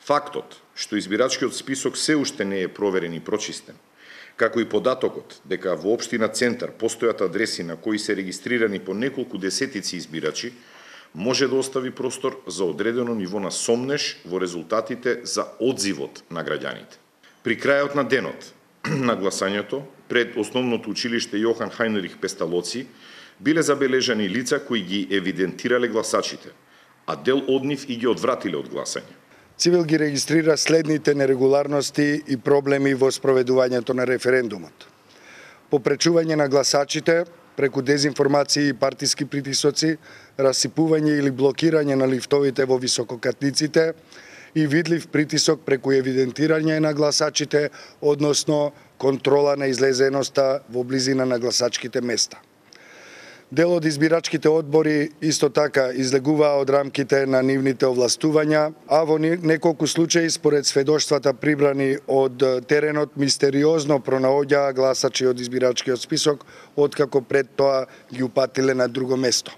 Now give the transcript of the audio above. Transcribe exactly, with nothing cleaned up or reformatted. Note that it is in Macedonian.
Фактот што избирачкиот список се уште не е проверен и прочистен, како и податокот дека во општина Центар постојат адреси на кои се регистрирани по неколку десетици избирачи, може да остави простор за одредено ниво на сомнеш во резултатите за одзивот на граѓаните. При крајот на денот на гласањето, пред Основното училиште Јохан Хајнрих Песталоци, биле забележани лица кои ги евидентирале гласачите, а дел од нив и ги одвратиле од гласање. Цивил ги регистрира следните нерегуларности и проблеми во спроведувањето на референдумот. Попречување на гласачите преку дезинформации и партиски притисоци, расипување или блокирање на лифтовите во висококатниците и видлив притисок преку евидентирање на гласачите, односно контрола на излезеноста во близина на гласачките места. Дел од избирачките одбори исто така излегуваа од рамките на нивните овластувања, а во неколку случаи според сведоштвата прибрани од теренот мистериозно пронаоѓаа гласачи од избирачкиот список, откако пред тоа ги упатиле на друго место.